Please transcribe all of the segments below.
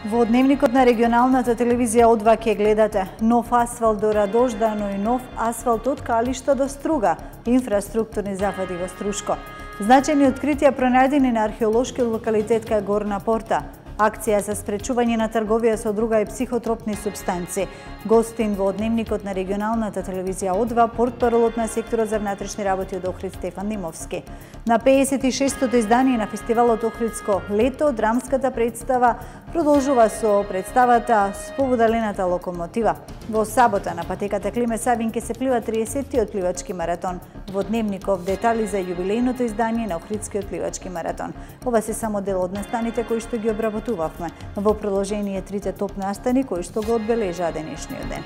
Во дневникот на регионалната телевизија О2 ќе гледате нов асфалт до Радожда, но и нов асфалт од Калишта до Струга, инфраструктурни зафати во Струшко. Значајни откритија пронајдени на археолошки локалитет кај Горна Порта. Акција за спречување на трговија со друга и психотропни супстанци. Гостин во дневникот на регионалната телевизија О2 портпаролот на секторот за внатрешни работи од Охрид Стефан Димовски. На 56-тото издание на фестивалот Охридско лето, драмската представа продолжува со представата Спобудалената локомотива. Во сабота на патеката Климе Савин ќе се плива 30-тиот пливачки маратон. Во дневников детали за јубилејното издание на Охридскиот пливачки маратон. Ова се само дел од настаните кои што ги обработувавме. Во продолжение трите топ настани кои што го одбележаа денешниот ден.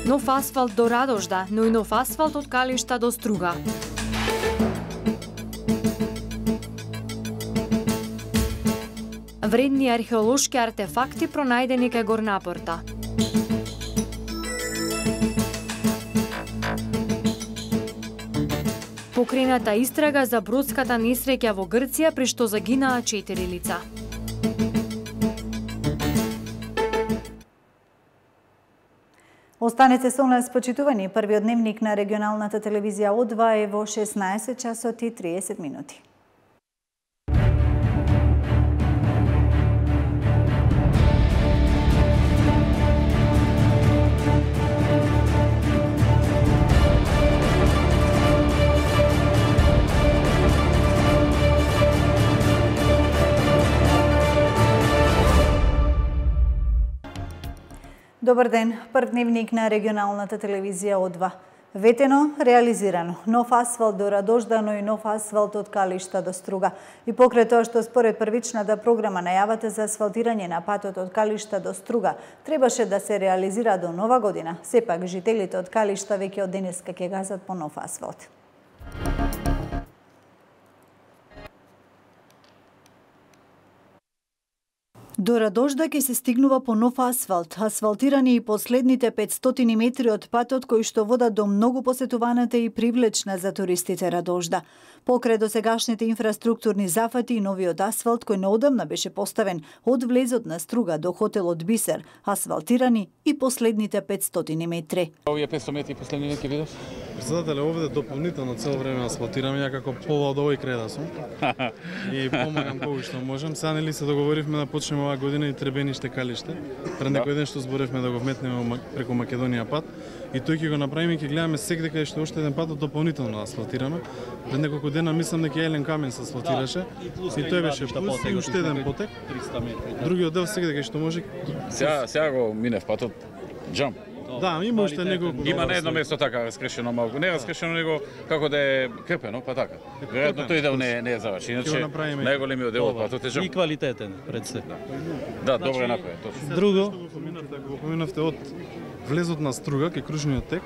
Нов асфалт до Радожда, но и нов асфалт од Калишта до Струга. Вредни археолошки артефакти пронајдени кај Горна Порта. Покрената истрага за бродската несреќа во Грција, при што загинаа 4 лица. Останете со нас, почитувани. Првиот дневник на регионалната телевизија О2 е во 16 часот и 30 минути. Добар ден, прв дневник на регионалната телевизија О2. Ветено, реализирано. Нов асфалт до Радожда, но и нов асфалт од Калишта до Струга. И покрај тоа што според првичната програма најавата за асфалтирање на патот од Калишта до Струга требаше да се реализира до нова година, сепак жителите од Калишта веќе од денеска ќе газат по нов асфалт. До Радожда ќе се стигнува по нов асфалт, асфалтирани и последните 500 метри од патот кои што водат до многу посетуваната и привлечна за туристите Радожда. Покрај досегашните инфраструктурни зафати и новиот асфалт кој неодамна беше поставен од влезот на Струга до хотелот Бисер, асфалтирани и последните 500 метри. Овие 500 метри последни ќе видов? Председателе, овде дополнително цело време асфалтираме, ја како пола од овој крај да сум. И помагам колку што можам. Сега нели се договоривме да почнеме оваа година и Требениште Калиште. Пред некој ден што зборевме да го вметнеме преку Македонија пат. И тој ќе го направиме и ќе гледаме секаде каде што уште еден пат дополнително асфалтираме. Пред неколку дена мислам дека Елен Камен се асфалтираше. И тој беше плюс и уште еден потек. 300 метри. Другиот дел секаде каде што може. Сега го минев патот џам. Да, има уште неколку. Има на едно место така раскрешено малку, не раскрешено него како да е крпено, па така. Веројатно тој дел не е завршен, иначе најголемиот дел од патот е џам. И квалитетен пред се. Да, добро е направено, точно. Друго, го поминавте од влезот на Струга кај кружниот тек,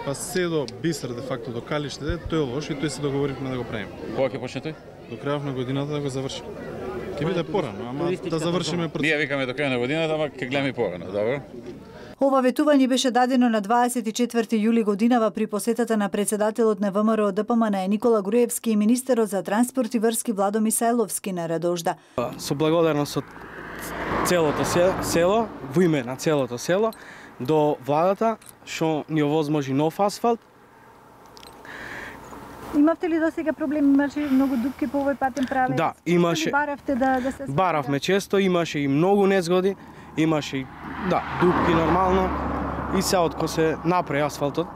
па се до Бисер де факто до Калиште, тој е лош и тој се договоривме да го правиме. Кога ќе почне тој? До крајот на годината да го завршиме. Ќе биде порано, ама да завршиме процесот. Ние викаме до крај на годината, ама ќе гледаме порано, добро? Ова ветување беше дадено на 24 јули годинава при посетата на председателот на ВМРО ДПМН Никола Груевски и министерот за транспорт и врски Владо Мисајловски на Радожда. со благодарност од целото село, во име на целото село, до владата што ни овозможи нов асфалт. Имавте ли досега проблеми, имаше многу дупки по овој патен правец? Да, имаше. Баравте да се асфалтира? Баравме често, имаше и многу незгоди, имаше и дупки нормално. И сега од кога се направи асфалтот,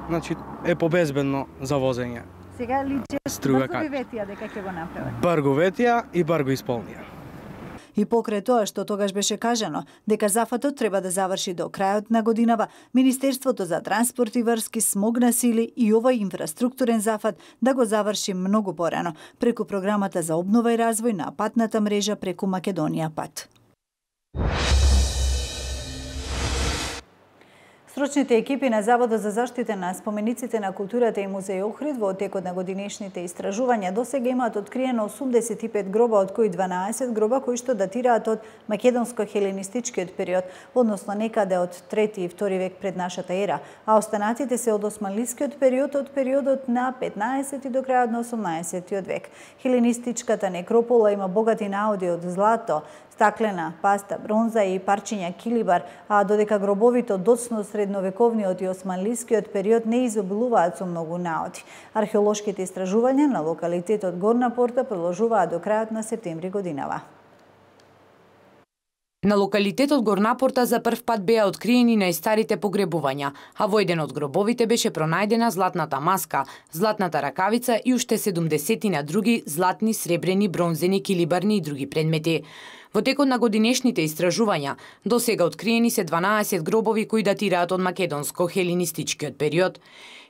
значи е побезбедно за возење. Сега личи Струга брзо ветија дека ќе го направат. Брго ветија и брго исполнија. И покрај тоа што тогаш беше кажано дека зафатот треба да заврши до крајот на годинава, Министерството за транспорт и врски смогна сили и овој инфраструктурен зафат да го заврши многу порано преку програмата за обнова и развој на патната мрежа преку Македонија пат. Стручните екипи на Заводот за заштита на спомениците на културата и музеј Охрид во текот на годинешните истражувања досега имаат откриено 85 гроба, од кои 12 гроба кои што датираат од македонско-хеленистичкиот период, односно некаде од 3 и 2 век пред нашата ера, а останатите се од османлискиот период, од периодот на 15 до крајот на 18 век. Хеленистичката некропола има богати наоди од злато, стаклена паста, бронза и парчиња килибар, а додека гробовите од доцно средновековниот и османлискиот период не изобилуваат со многу наоди. Археолошките истражувања на локалитетот Горна Порта продолжуваат до крајот на септември годинава. На локалитетот Горна Порта за прв пат беа откриени најстарите погребувања, а во еден од гробовите беше пронајдена златната маска, златната ракавица и уште 70 други златни, сребрени, бронзени, килибарни и други предмети. Во текот на годинешните истражувања, досега откриени се 12 гробови кои датираат од македонско-хеленистичкиот период.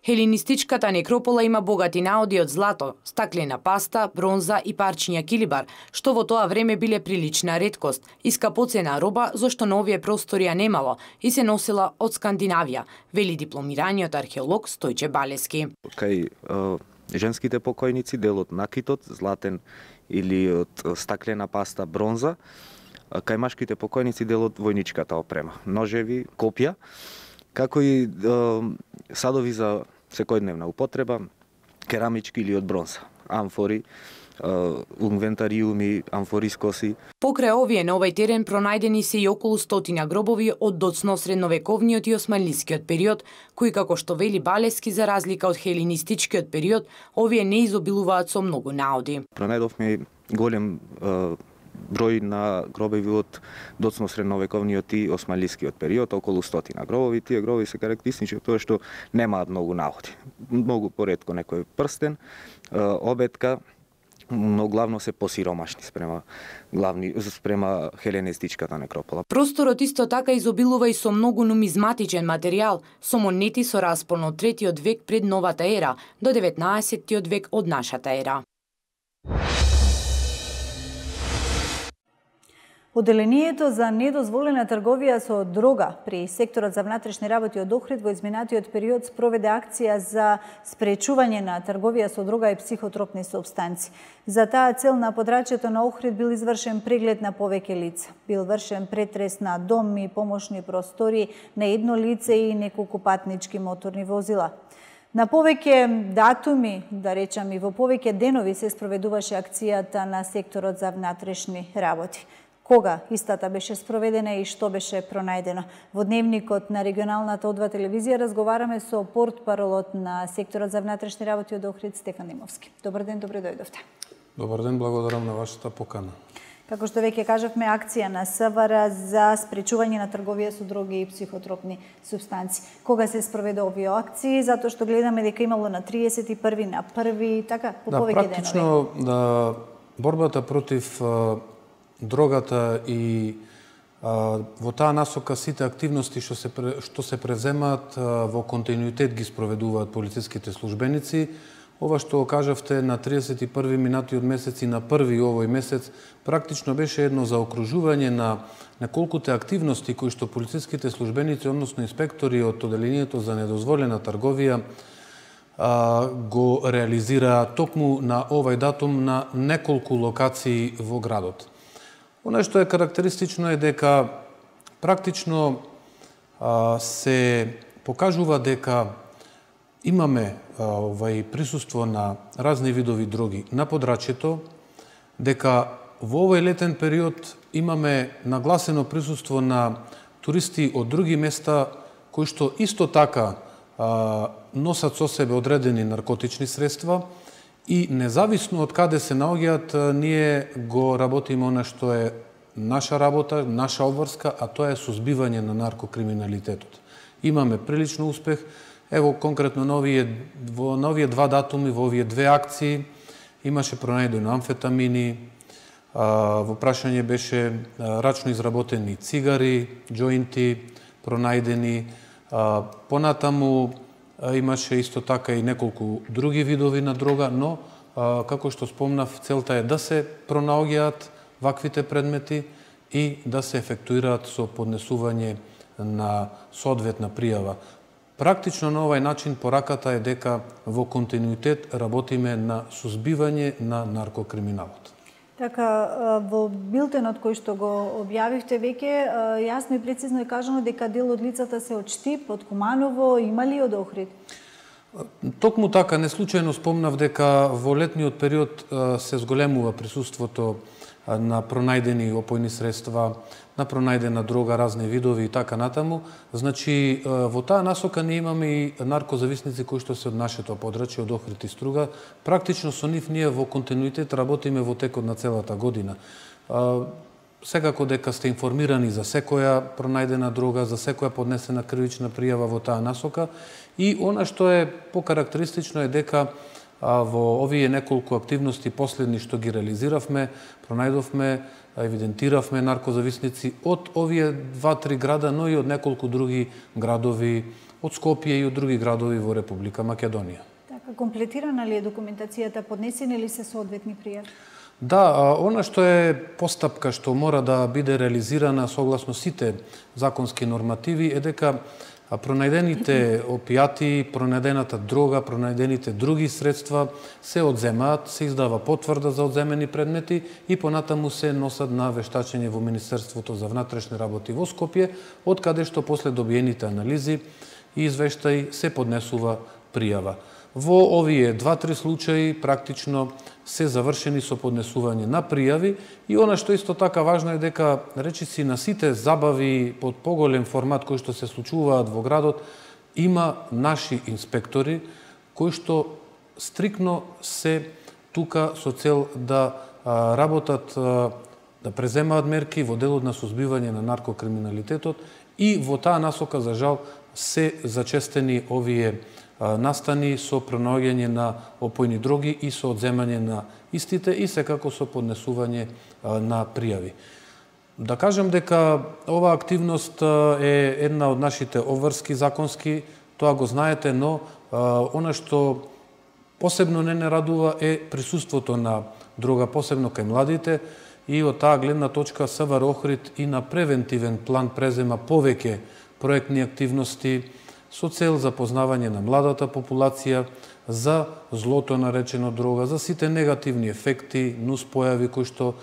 Хеленистичката некропола има богати наоди од злато, стаклена паста, бронза и парчиња килибар, што во тоа време биле прилична реткост и скапоцена роба, зашто на овие простори ја немало и се носела од Скандинавија, вели дипломираниот археолог Стојче Балески. Кај женските покојници делот накитот, златен или од стаклена паста, бронза, кај машките покојници делот војничката опрема, ножеви, копја, како и садови за секојдневна употреба, керамички или од бронза, амфори, инвентариуми, амфорискоси. Покрај овие на овој терен пронајдени се и околу 100 гробови од доцно средновековниот и османлискиот период, кои како што вели Балески за разлика од хеленистичкиот период, овие не изобилуваат со многу наоди. Пронајдовме голем број на гробови од доцно средновековниот и османлискиот период, околу 100 гробови. Тие гробови се карактеристични тоа што немаат многу наоди. Многу поретко некој прстен, обетка, но главно се посиромашни спрема хеленистичката некропола. Просторот исто така изобилува и со многу нумизматичен материјал, со монети со распон од 3 век пред новата ера до 19 век од нашата ера. Оделението за недозволена трговија со дрога при секторот за внатрешни работи од Охрид во изминатиот период спроведе акција за спречување на трговија со дрога и психотропни супстанци. За таа цел на подрачјето на Охрид бил извршен преглед на повеќе лица. Бил вршен претрес на дом и помошни простори на едно лице и неколку патнички моторни возила. На повеќе датуми, да речам и во повеќе денови се спроведуваше акцијата на секторот за внатрешни работи. Кога истата беше спроведена и што беше пронајдено? Во дневникот на регионалната О2 телевизија разговараме со портпаролот на секторот за внатрешни работи од Охрид Стефан Димовски. Добар ден, добре дојдовте. Добар ден, благодарам на вашата покана. Како што веќе кажавме, акција на СВР за спречување на трговија со дроги и психотропни супстанци. Кога се спроведе овие акции? Затоа што гледаме дека имало на 31, на 1, така, по повеќе денови. Практично борбата против дрогата и во таа насока сите активности што се преземаат во континуитет ги спроведуваат полициските службеници. Ова што кажавте на 31 минатиот месец и на 1 овој месец практично беше едно заокружување на неколкуте активности кои што полициските службеници, односно инспектори од Оделението за недозволена трговија го реализираа токму на овој датум на неколку локации во градот. Оно што е карактеристично е дека практично се покажува дека имаме присуство на разни видови дроги на подрачјето, дека во овој летен период имаме нагласено присуство на туристи од други места кои што исто така носат со себе одредени наркотични средства и независно од каде се наоѓаат, ние го работиме она што е наша работа, наша обврска, а тоа е сузбивање на наркокриминалитетот. Имаме прилично успех. Ево, конкретно на овие два датуми, во овие две акции, имаше пронајдено амфетамини, во прашање беше рачно изработени цигари, џоинти, пронајдени. Понатаму имаше исто така и неколку други видови на дрога, но, како што спомнав, целта е да се пронаоѓаат ваквите предмети и да се ефектуираат со поднесување на соодветна пријава. Практично на овај начин пораката е дека во континуитет работиме на сузбивање на наркокриминалот. Така, во билтенот кој што го објавивте веќе, јасно и прецизно е кажано дека дел од лицата се од Штип, од Куманово, има ли од Охрид? Токму така, неслучајно спомнав дека во летниот период се зголемува присуството на пронајдени опојни средства, на пронајдена дрога, разни видови и така натаму. Значи, во таа насока ние имаме и наркозависници кои што се од нашето подрачје, од Охрид и Струга. Практично со нив ние во континуитет работиме во текот на целата година. Секако дека сте информирани за секоја пронајдена дрога, за секоја поднесена кривична пријава во таа насока. И она што е покарактеристично е дека во овие неколку активности последни што ги реализиравме, пронајдовме, евидентиравме наркозависници од овие 2-3 града, но и од неколку други градови, од Скопје и од други градови во Република Македонија. Така, комплетирана ли е документацијата, поднесени ли се соодветни пријави? Да, она што е постапка што мора да биде реализирана согласно сите законски нормативи е дека пронајдените опијати, пронајдената дрога, пронајдените други средства се одземаат, се издава потврда за одземени предмети и понатаму се носат на вештачење во Министерството за внатрешни работи во Скопје, од каде што после добиените анализи и извештаи се поднесува пријава. Во овие 2-3 случаи практично се завршени со поднесување на пријави и она што исто така важно е дека речиси на сите забави под поголем формат кои што се случуваат во градот има наши инспектори кои што стрикно се тука со цел да работат, да преземаат мерки во делот на сузбивање на наркокриминалитетот и во таа насока за жал се зачестени овие настани со пронаоѓање на опојни дроги и со одземање на истите и секако со поднесување на пријави. Да кажам дека оваа активност е една од нашите обврски законски, тоа го знаете, но она што посебно не радува е присуството на дрога, посебно кај младите, и од таа гледна точка СВР Охрид и на превентивен план презема повеќе проектни активности со цел запознавање на младата популација за злото наречено дрога, за сите негативни ефекти, нуспојави кои што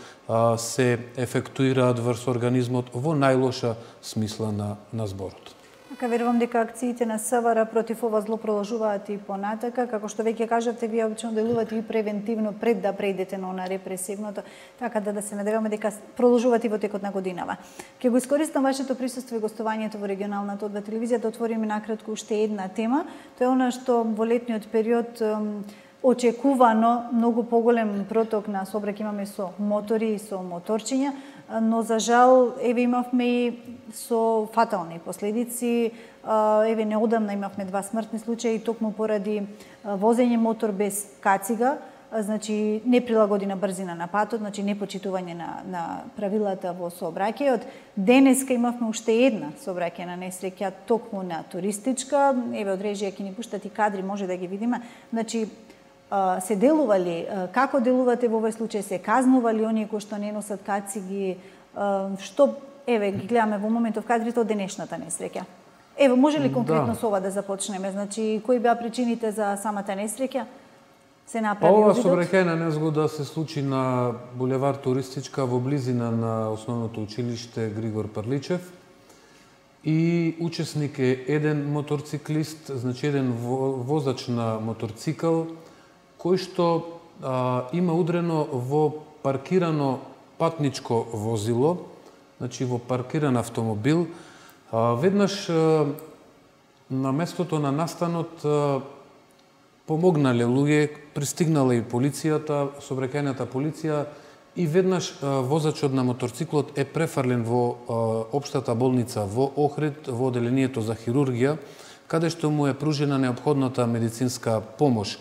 се ефектуираат врз организмот во најлоша смисла на зборот. Така, верувам дека акциите на СВР против ова зло продолжуваат и понатака, како што веќе кажавте, вие обично делувате и превентивно пред да преидете на она репресивното, така да се надеваме дека продолжуваат и во текот на годинава. Ќе го искористам вашето присуство и гостувањето во регионалната одба телевизија да отвориме накратко уште една тема. Тоа е она што во летниот период очекувано многу поголем проток на сообраќај имаме со мотори и со моторчиња, но за жал еве имавме и со фатални последици. Еве неодамна имавме 2 смртни случаи токму поради возење мотор без кацига, значи неприлагодена брзина на патот, значи непочитување на правилата во сообраќајот. Денеска имавме уште една сообраќајна несреќа токму на туристичка. Еве од режија ќе ни пуштат и кадри, може да ги видиме. Значи се делува ли, како делувате во овој случај, се казнува ли оние кои што не носат кациги, што, еве, ги гледаме во моментов кадрите од денешната несреќа. Ево, може ли конкретно со ова да започнеме? Значи, кои беа причините за самата несреќа? Се направи ова обидот? сообраќајна незгода се случи на булевар Туристичка во близина на основното училиште Григор Прличев и учесник е еден моторциклист, значи еден возач на моторцикл, кој што има удрено во паркирано патничко возило, значи во паркиран автомобил. Веднаш на местото на настанот помогнале луѓе, пристигнала и полицијата, сообраќајната полиција, и веднаш возачот на моторциклот е префрлен во општата болница во Охрид, во оделението за хирургија, каде што му е пружена неопходната медицинска помош.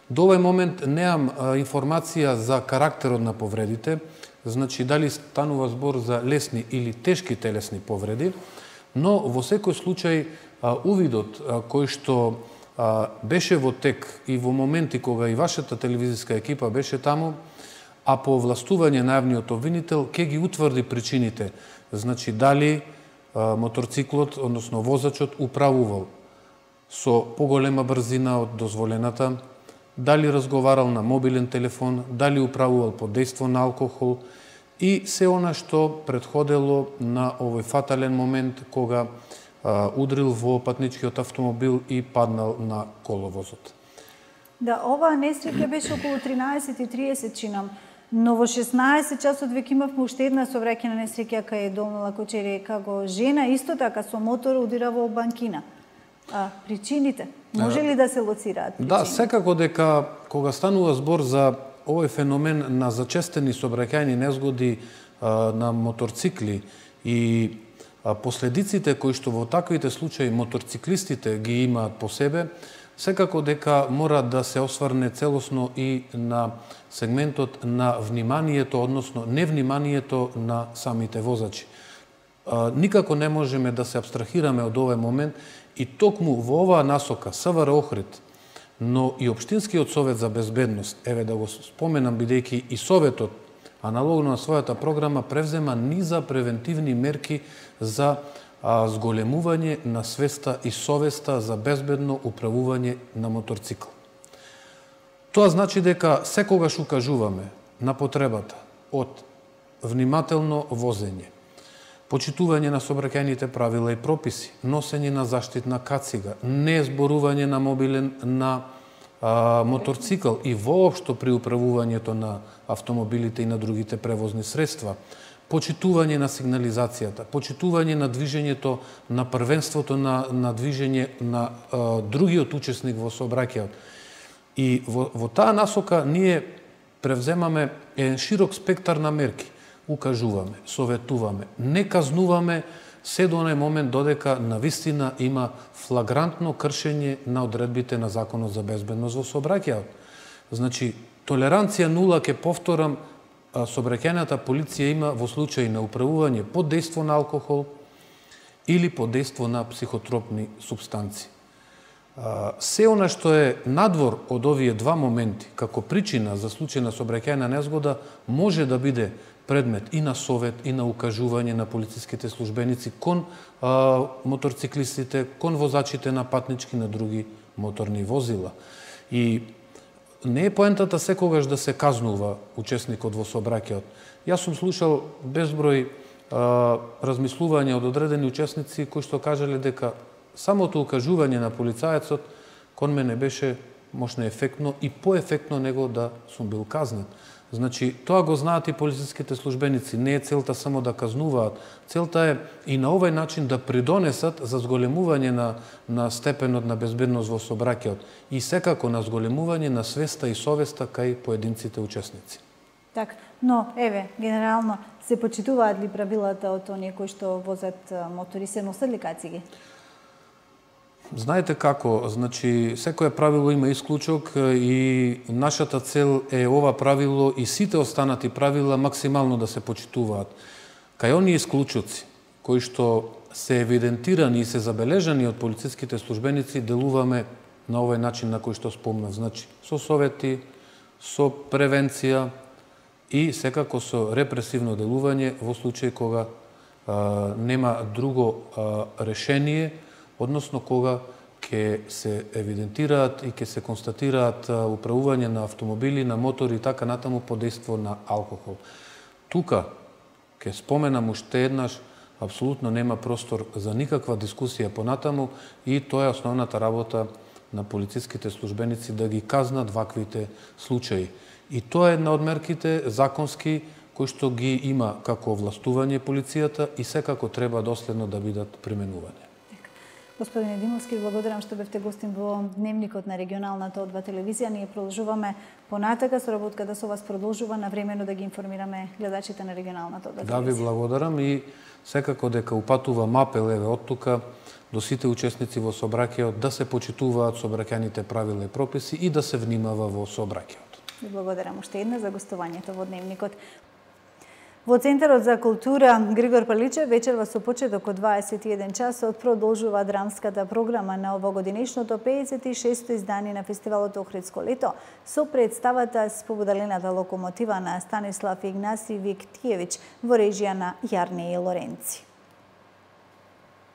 До овој момент неам информација за карактерот на повредите, значи дали станува збор за лесни или тешки телесни повреди, но во секој случај увидот кој што беше во тек и во моменти кога и вашата телевизиска екипа беше таму, а по овластување на јавниот обвинител ќе ги утврди причините, значи дали моторциклот, односно возачот, управувал со поголема брзина од дозволената, дали разговарал на мобилен телефон, дали управувал под дејство на алкохол и се она што предходело на овој фатален момент кога удрил во патничкиот автомобил и паднал на коловозот. Да, оваа несреќа беше околу 13:30 чинам, но во 16 часот веќе имавме уште една сообраќајна несреќа кај Долна Кочери, како жена исто така со мотор удира во банкина. Причините? Може ли да се лоцираат причините? Да, секако дека кога станува збор за овој феномен на зачестени сообраќајни незгоди на моторцикли и последиците кои што во таквите случаи моторциклистите ги имаат по себе, секако дека мора да се осврне целосно и на сегментот на вниманието, односно невниманието на самите возачи. Никако не можеме да се абстрахираме од овој момент и токму во оваа насока СВР Охрид, но и Општинскиот совет за безбедност, еве да го споменам бидејќи и советот аналогно на својата програма превзема низа превентивни мерки за зголемување на свеста и совеста за безбедно управување на моторцикл. Тоа значи дека секогаш укажуваме на потребата од внимателно возење, почитување на сообраќајните правила и прописи, носење на заштитна кацига, не зборување на мобилен на моторцикл и воопшто при управувањето на автомобилите и на другите превозни средства, почитување на сигнализацијата, почитување на движењето на првенството на движење на другиот учесник во сообраќајот. И во таа насока ние превземаме еден широк спектар на мерки. Укажуваме, советуваме, не казнуваме се до оној момент додека навистина има флагрантно кршење на одредбите на Законот за безбедност во сообраќајот. Значи, толеранција нула, ке повторам, сообраќајната полиција има во случај на управување под дејство на алкохол или под дејство на психотропни супстанции. Се она што е надвор од овие два моменти, како причина за случај на сообраќајна незгода, може да биде предмет и на совет, и на укажување на полициските службеници кон моторциклистите, кон возачите на патнички на други моторни возила. И не е поентата секогаш да се казнува учесникот во сообраќајот. Јас сум слушал безброј размислувања од одредени учесници кои што кажале дека самото укажување на полицаецот кон мене беше можно ефектно и поефектно него да сум бил казнен. Значи, тоа го знаат и полициските службеници. Не е целта само да казнуваат. Целта е и на овој начин да придонесат за зголемување на степенот на безбедност во сообраќајот и секако на зголемување на свеста и совеста кај поединците учесници. Так, но еве, генерално се почитуваат ли правилата од оние кои што возат мотори, се носат ли кациги? Знаете како, значи, секое правило има исклучок и нашата цел е ова правило и сите останати правила максимално да се почитуваат. Кај оние исклучоци, кои што се евидентирани и се забележани од полициските службеници, делуваме на овој начин на кој што спомнав. Значи, со совети, со превенција и секако со репресивно делување во случај кога нема друго решение, односно кога ќе се евидентираат и ќе се констатираат управување на автомобили, на мотори и така натаму под дејство на алкохол. Тука, ќе споменам уште еднаш, апсолутно нема простор за никаква дискусија понатаму и тоа е основната работа на полициските службеници да ги казнат ваквите случаи. И тоа е една од мерките законски кои што ги има како овластување полицијата и секако треба доследно да бидат применувани. Господине Димовски, благодарам што бевте гостин во Дневникот на регионалната О2 телевизија. Ние продолжуваме понатака, соработката со вас продолжува навремено да ги информираме гледачите на регионалната О2 телевизија. Да, ви благодарам и секако дека упатувам апел еве од тука до сите учесници во сообраќајот да се почитуваат сообраќајните правила и прописи и да се внимава во сообраќајот. Ви благодарам уште една за гостувањето во Дневникот. Во Центарот за култура Григор Паличев вечерва со почеток од 21 часот продолжува драмската програма на овогодинешното 56-то издание на фестивалот Охридско лето со представата Спобудалената локомотива на Станислав Игнасиевич во режија на Јарне и Лоренци.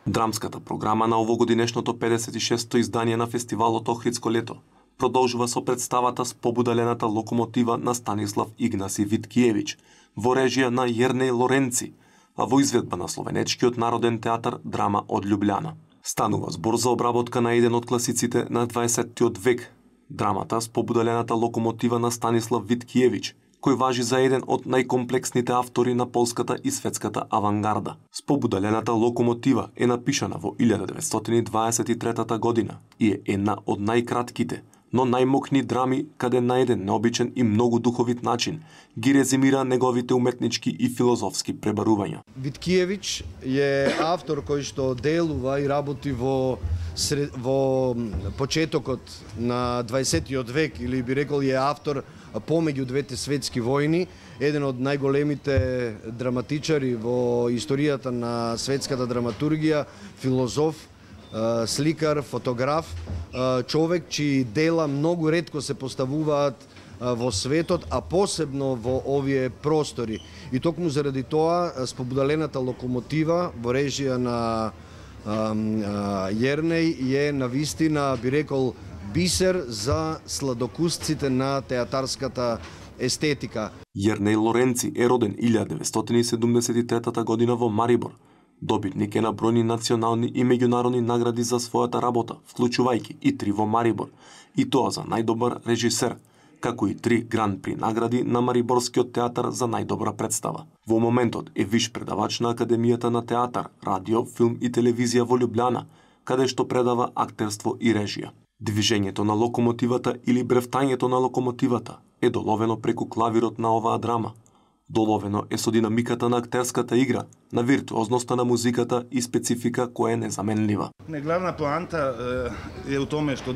Драмската програма на овогодинешното 56-то издание на фестивалот Охридско лето продолжува со представата Спобудалената локомотива на Станислав Игнаси Виткиевич во режија на Јернеј Лоренци, а во изведба на Словенечкиот народен театар Драма од Љубљана. Станува збор за обработка на еден од класиците на 20-тиот век, драмата Спобудалената локомотива на Станислав Виткиевич, кој важи за еден од најкомплексните автори на полската и светската авангарда. Спобудалената локомотива е напишана во 1923 година и е една од најкратките, но најмокни драми каде на еден необичен и многу духовит начин ги резимира неговите уметнички и филозофски пребарувања. Виткиевич е автор кој што делува и работи во почетокот на 20-тиот век, или би рекол е автор помеѓу двете светски војни, еден од најголемите драматичари во историјата на светската драматургија, филозоф, сликар, фотограф, човек чии дела многу ретко се поставуваат во светот, а посебно во овие простори. И токму заради тоа Спобудалената локомотива во режија на Јернеј е навистина, би рекол, бисер за сладокусците на театарската естетика. Јернеј Лоренци е роден 1973 година во Марибор. Добитник е на бројни национални и меѓународни награди за својата работа, вклучувајќи и 3 во Марибор, и тоа за најдобар режисер, како и 3 гран-при награди на Мариборскиот театар за најдобра представа. Во моментот е виш предавач на Академијата на театар, радио, филм и телевизија во Љубљана, каде што предава актерство и режија. Движењето на локомотивата или бревтањето на локомотивата е доловено преку клавирот на оваа драма. Доловено е со динамиката на актерската игра, на виртуозноста на музиката и специфика која е незаменлива. Главна поанта е у томе што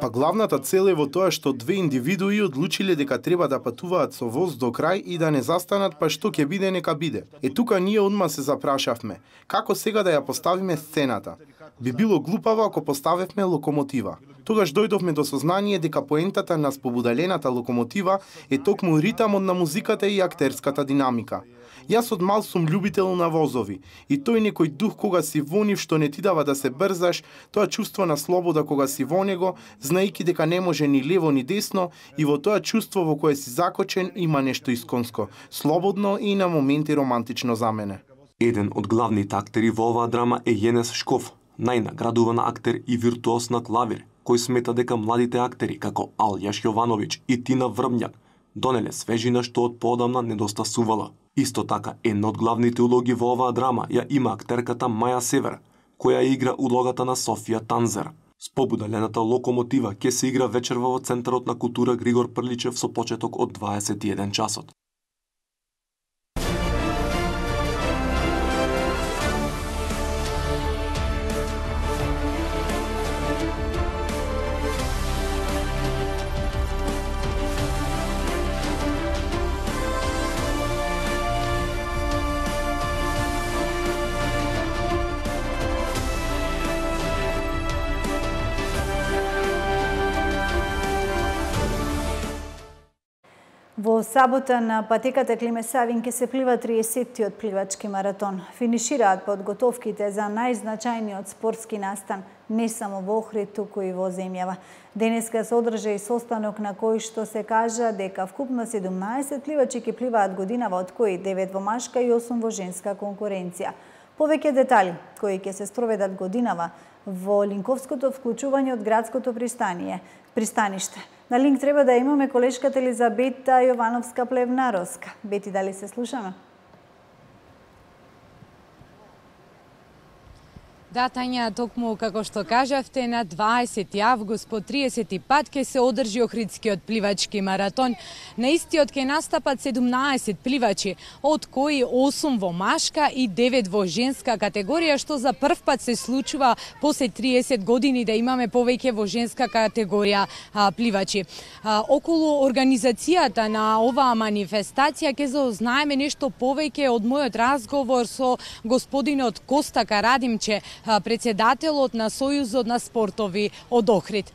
Па главната цел е во тоа што две индивидуи одлучиле дека треба да патуваат со воз до крај и да не застанат, па што ќе биде нека биде. Е тука ние одма се запрашавме, како сега да ја поставиме сцената? Би било глупаво ако поставевме локомотива. Тогаш дојдовме до сознание дека поентата на Спобудалената локомотива е токму ритамот на музиката и актерската динамика. Јас од мал сум љубител на возови и тој некој дух кога си во нив што не ти дава да се брзаш, тоа чувство на слобода кога си во него, знаејќи дека не може ни лево ни десно, и во тоа чувство во кое си закочен има нешто исконско, слободно и на моменти романтично за мене. Еден од главните актери во оваа драма е Јенес Шков, најнаградуван актер и виртуоз на клавир, кој смета дека младите актери како Алјаш Јовановиќ и Тина Врбњак донеле свежина што од поодамна недостасувала. Исто така, една од главните улоги во оваа драма ја има актерката Маја Север, која игра улогата на Софија Танзер. Спобудалената локомотива ќе се игра вечерва во Центарот на култура Григор Прличев со почеток од 21 часот. Во сабота на патеката Климе Савин ќе се плива 30-тиот пливачки маратон. Финишираат подготовките за најзначајниот спортски настан не само во Охрид, туку и во земјава. Денеска се одржа и состанок на кој што се кажа дека вкупно 17 пливачи ќе пливаат годинава, од кои 9 во машка и 8 во женска конкуренција. Повеќе детали кои ќе се спроведат годинава во линковското вклучување од градското пристаниште. На линк треба да имаме колешката Елизабета Јовановска-Плевнаровска. Бети, дали се слушаме? Да, Тања, токму како што кажавте, на 20 август по 30 пат ќе се одржи Охридскиот пливачки маратон. На истиот ќе настапат 17 пливачи, од кои 8 во машка и 9 во женска категорија, што за прв пат се случува после 30 години да имаме повеќе во женска категорија пливачи. Околу организацијата на оваа манифестација ќе заознаеме нешто повеќе од мојот разговор со господинот Коста Карадимче, председателот на Сојузот на спортови од Охрид.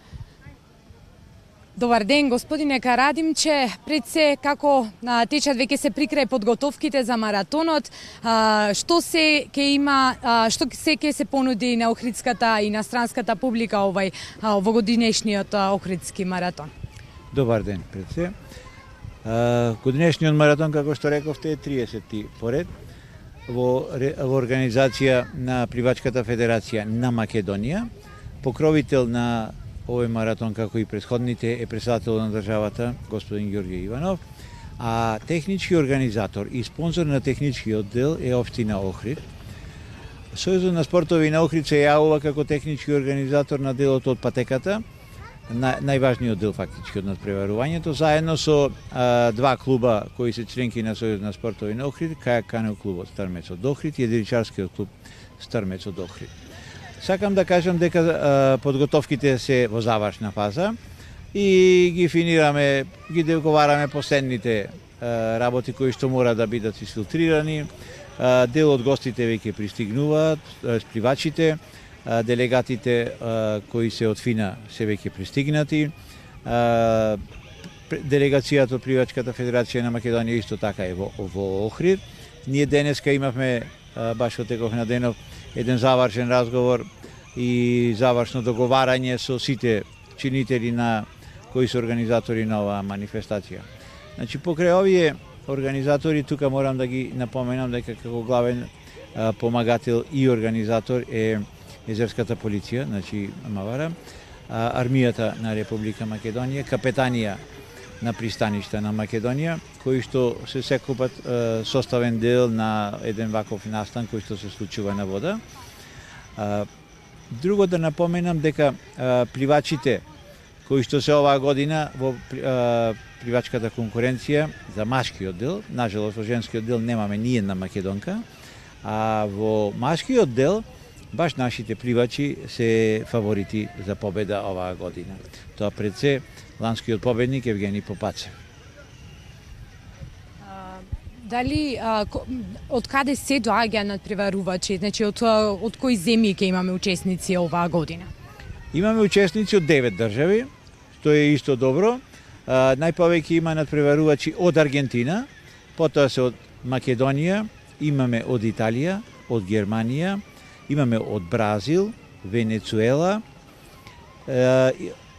Добар ден, господине Карадимче. Пред се, како течат веќе се прикрај подготовките за маратонот, што се ќе се понуди на охридската и на странската публика овогодинешниот охридски маратон? Добар ден, пред се. Годинешниот маратон, како што рековте, е 30-ти поред во организација на Пливачката федерација на Македонија. Покровител на овој маратон, како и претходните, е председател на државата, господин Ѓорѓе Иванов, а технички организатор и спонзор на техничкиот дел е општина Охрид. Сојузот на спортови на Охрид се јавува како технички организатор на делот од патеката, најважниот дел фактички од надпреварувањето, заедно со два клуба кои се членки на Сојузот на спортови на Охрид, кајак канео клубот Стармец од Охрид и единичарскиот клуб Стармец од Охрид. Сакам да кажам дека подготовките се во завршна фаза и ги финираме, ги договараме последните работи кои што мора да бидат изфилтрирани. Дел од гостите веќе пристигнуваат, спливачите, делегатите кои се од ФИНА се веќе пристигнати. Делегацијата од Пливачката федерација на Македонија исто така е во Охрид. Ние денеска имавме, баш отеков на денов, еден завршен разговор и завршно договарање со сите чинители на кои се организатори на оваа манифестација. Значи, покрај овие организатори, тука морам да ги напоменам дека како главен помагател и организатор е Езерската полиција, значи МВР, армијата на Република Македонија, капетанија на пристаништа на Македонија, кои што се секупат составен дел на еден ваков настан кој што се случува на вода. Друго да напоменам дека пливачите кои што се оваа година во пливачката конкуренција за машкиот дел, нажалост во женскиот дел немаме ни една македонка, а во машкиот дел баш нашите пливачи се фаворити за победа оваа година. Тоа пред се ланскиот победник Евгени Попацев. Дали од каде се доаѓа надпреварувачи? Значи од кои земји ќе имаме учесници оваа година? Имаме учесници од 9 држави, што е исто добро. Најповеќе има надпреварувачи од Аргентина, потоа се од Македонија, имаме од Италија, од Германија, имаме од Бразил, Венецуела,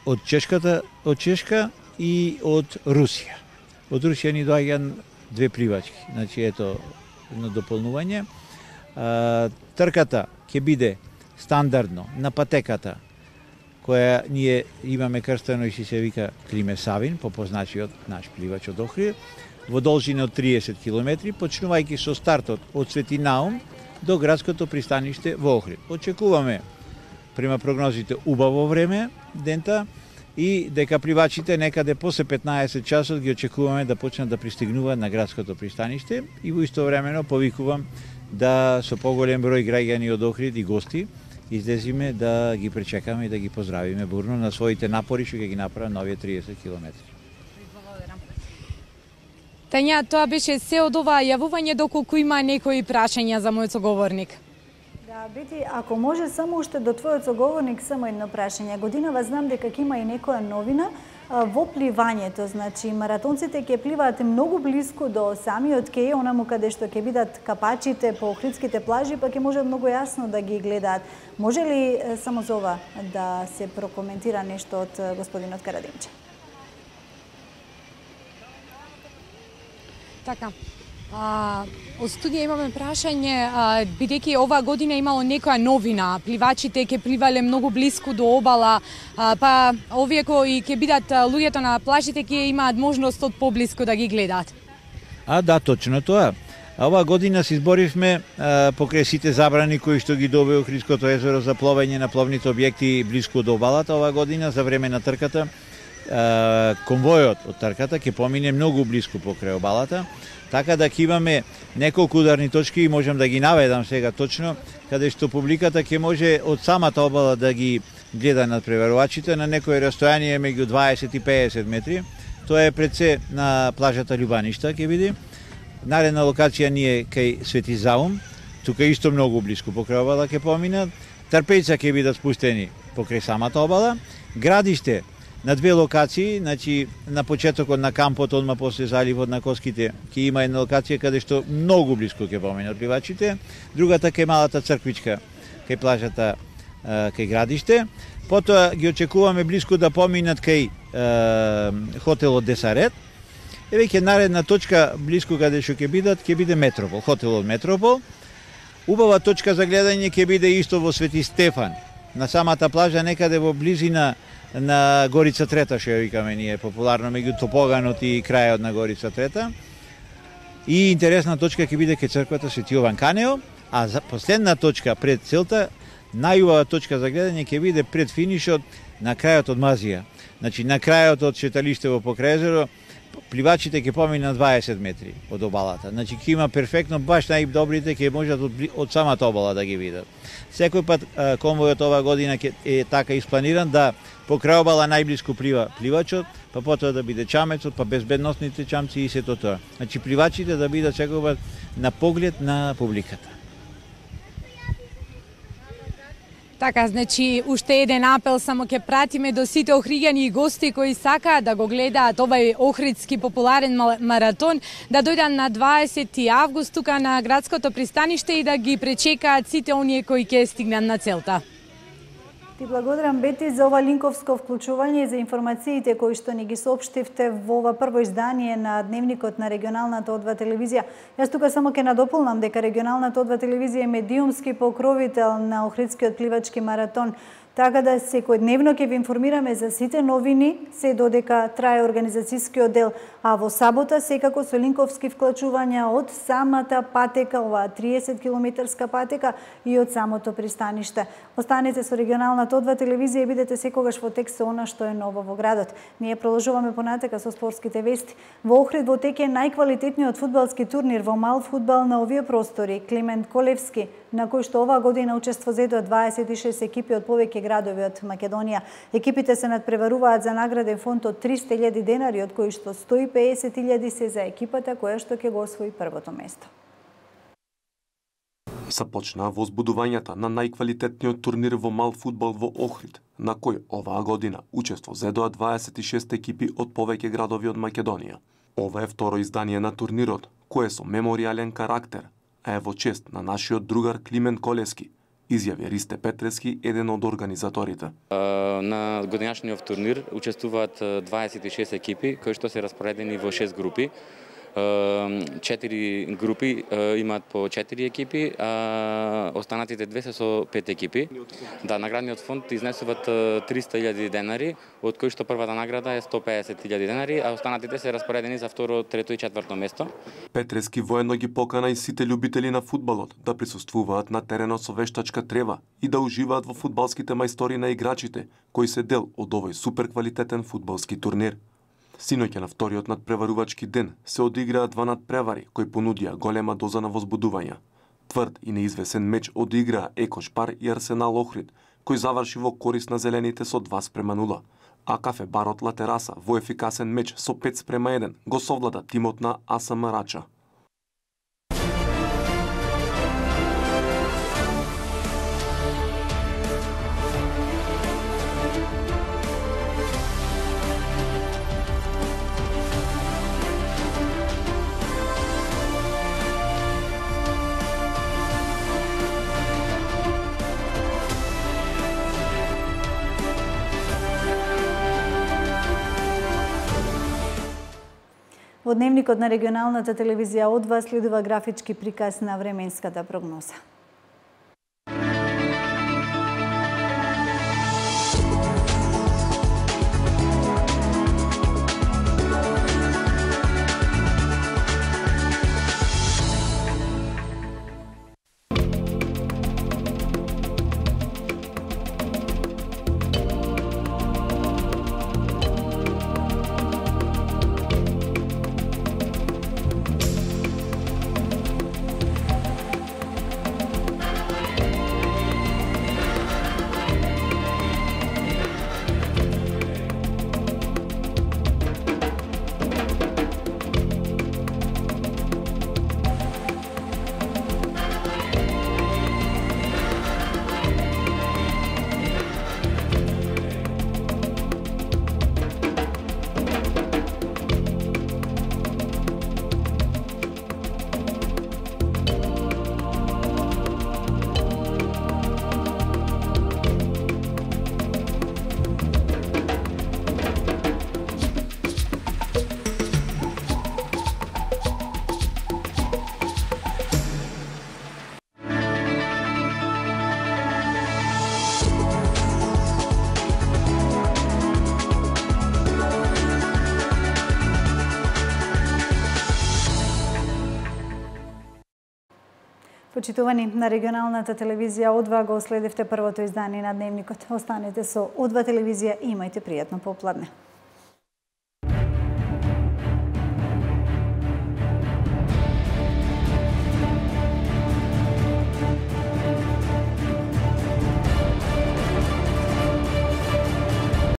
од Чешка и од Русија. Од Русија ни доаѓаат 2 пливачки, значи ето едно дополнување. Трката ќе биде стандардно на патеката, која ние имаме крстено и се вика Климе Савин, по позначиот наш пливач од Охрид, во должина од 30 км, почнувајќи со стартот од Свети Наум до градското пристаниште во Охрид. Очекуваме, према прогнозите, убаво време дента и дека пливачите некаде после 15 часот ги очекуваме да почнат да пристигнуваат на градското пристаниште и во истовремено повикувам да со поголем број граѓани од Охрид и гости излезиме да ги пречекаме и да ги поздравиме бурно на своите напори што ќе ги направат на овие 30 километри. Тања, тоа беше се од ова јавување, доколку има некои прашања за мојот соговорник. Да, Бети, ако може само уште до твојот соговорник само едно прашање. Годинава знам дека ќе има и некоја новина во пливањето, значи маратонците ќе пливаат многу блиску до самиот кеј, онаму каде што ќе бидат капачите по охридските плажи, па ќе може многу јасно да ги гледаат. Може ли само за ова да се прокоментира нешто од господинот Карадимче? Така. Од студија имаме прашање, бидејќи оваа година имало некоја новина, пливачите ќе пливале многу блиску до обала, па овие кои ќе бидат луѓето на плажите ќе имаат можност од поблиску да ги гледаат. Да, точно тоа. Оваа година се изборивме покрај сите забрани кои што ги доби Охридското езеро за пловење на пловните објекти блиску до обалата. Оваа година за време на трката конвојот од трката ќе помине многу блиску покрај обалата, така да ќе имаме неколку ударни точки и можам да ги наведам сега точно, каде што публиката ќе може од самата обала да ги гледа надпреварувачите на некој растојание меѓу 20 и 50 метри. Тоа е пред се на плажата Љубаништа ќе биде. Наредна локација ни е кај Свети Заум, тука исто многу блиску покрај обала ќе поминат. Трпејца ќе бидат спустени покрај самата обала. Градиште на две локации, значи на почетокот на кампот, одма после заливот на Коските, ќе има една локација каде што многу блиску ќе поминат пливачите, другата кај малата црквичка, кај плажата, кај градиште. Потоа ги очекуваме блиску да поминат кај хотелот Десарет. И веќе наредна точка блиску каде што ќе биде Метропол, хотелот Метропол. Убава точка за гледање ќе биде исто во Свети Стефан, на самата плажа некаде во близина на Горица Трета, што ја викаме ние популарно, меѓу Топоганот и крајот на Горица Трета. И интересна точка ќе биде кај црквата Свети Јован Канео, а за последна точка пред целта, најубава точка за гледање ќе биде пред финишот на крајот од Мазија. Значи на крајот од шеталиштево покрај езеро, пливачите ќе поминат 20 метри од обалата. Значи ќе има перфектно, баш најдобрите ќе можат од самата обала да ги видат. Секој пат конвојот ова година е така испланиран да покрај обала најблиску плива пливачот, па потоа да биде чамецот, па безбедносните чамци и сето тоа. Значи пливачите да бидат секој пат на поглед на публиката. Така, значи, уште еден апел само ќе пратиме до сите охриѓани и гости кои сакаат да го гледаат овај охридски популарен маратон, да дојдат на 20 август тука на градското пристаниште и да ги пречекаат сите оние кои ќе стигнат на целта. Ти благодарам, Бети, за ова линковско вклучување и за информациите кои што ни ги соопштивте во ова прво издание на Дневникот на регионалната О2 телевизија. Јас тука само ќе надополнам дека регионалната О2 телевизија е медиумски покровител на Охридскиот пливачки маратон. Така да секојдневно ќе ви информираме за сите новини, се додека трае организацијскиот дел, а во сабота секако со линковски вклучувања од самата патека, оваа 30 километарска патека и од самото пристаниште. Останете со регионалната О2 телевизија и бидете секогаш во текст со она што е ново во градот. Ние продолжуваме понатека со спортските вести. Во Охрид во тек е најквалитетниот фудбалски турнир во мал фудбал на овие простори, Климент Колевски, на кој што оваа година учество зедоа 26 екипи од повеќе градови од Македонија. Екипите се надпреваруваат за награден фонд од 300.000 денари, од кои што 150.000 се за екипата која што ќе го освои првото место. Започнаа возбудувањата на најквалитетниот турнир во мал фудбал во Охрид, на кој оваа година учество зедоа 26 екипи од повеќе градови од Македонија. Ова е второ издание на турнирот, кој е со меморијален карактер, а е во чест на нашиот другар Климент Колевски, изјави Ристе Петрески, еден од организаторите. На годинашниот турнир учествуваат 26 екипи, кои што се распоредени во 6 групи. 4 групи имаат по 4 екипи, а останатите две се со 5 екипи. Да, наградниот фонд изнесуваат 300.000 денари, од кои што првата награда е 150.000 денари, а останатите се распоредени за второ, трето и четврто место. Петрески воено ги покана и сите љубители на фудбалот да присуствуваат на теренот со вештачка трева и да уживаат во фудбалските мајстори на играчите, кои се дел од овој суперквалитетен фудбалски турнир. Синоќа на вториот надпреварувачки ден се одиграа два надпревари кои понудија голема доза на возбудувања. Тврд и неизвесен меч одиграа Екошпар и Арсенал Охрид, кој заврши во корис на зелените со 2:0, а Кафе Барот Ла Тераса во ефикасен меч со 5:1 го совлада тимот на АСМ Рача. Во Дневникот на регионалната телевизија О2 следува графички приказ на временската прогноза. Почитувани, на регионалната телевизија О2 го следевте првото издание на Дневникот. Останете со О2 телевизија и имајте пријатно попладне.